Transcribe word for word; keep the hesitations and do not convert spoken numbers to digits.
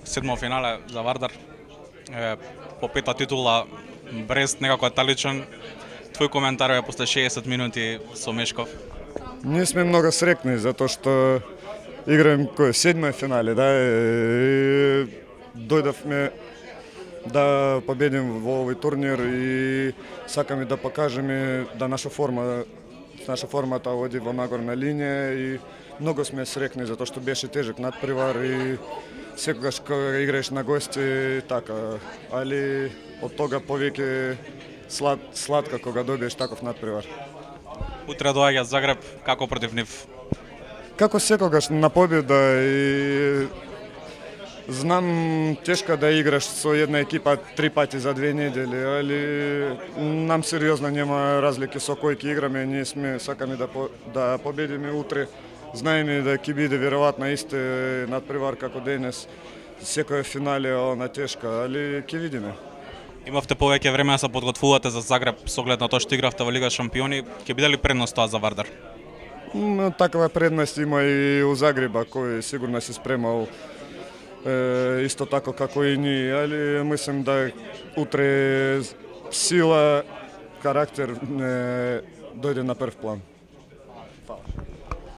седмо финале за Вардар. Е, по пета титула Брест некако е таличен. Твој коментар е после шеесет минути со Мешков. Ние сме многу срекни затоа што играем кој седмо финале, да, и дојдовме да победим во овој турнир и сакаме да покажеме да наша форма наша формата оди во нагорна линија и многу сме срекни затоа што беше тежок надпревар и секогаш кога играеш на гости така, али од тога повеќе слад, сладка кога добиеш таков надпревар. Утре доаѓа Загреб, како против нив? Како секогаш на победа и знам тешко да играш со една екипа три пати за две недели, али нам сериозно нема разлики со кој ќе играме, ние сме сакаме да по, да победиме утре. Знаеме да ќе биде веројатно исте надпревар како денес. Секој финале она тешка, али ќе видиме. Имавте повеќе време да се подготвувате за Загреб со оглед на тоа што игравте во Лига шампиони, ќе биде ли предност тоа за Вардар? Такава предност има и у Загреба, кој сигурно се спремал е, исто тако како и ние, али мислам да утре сила, карактер не дојде на прв план.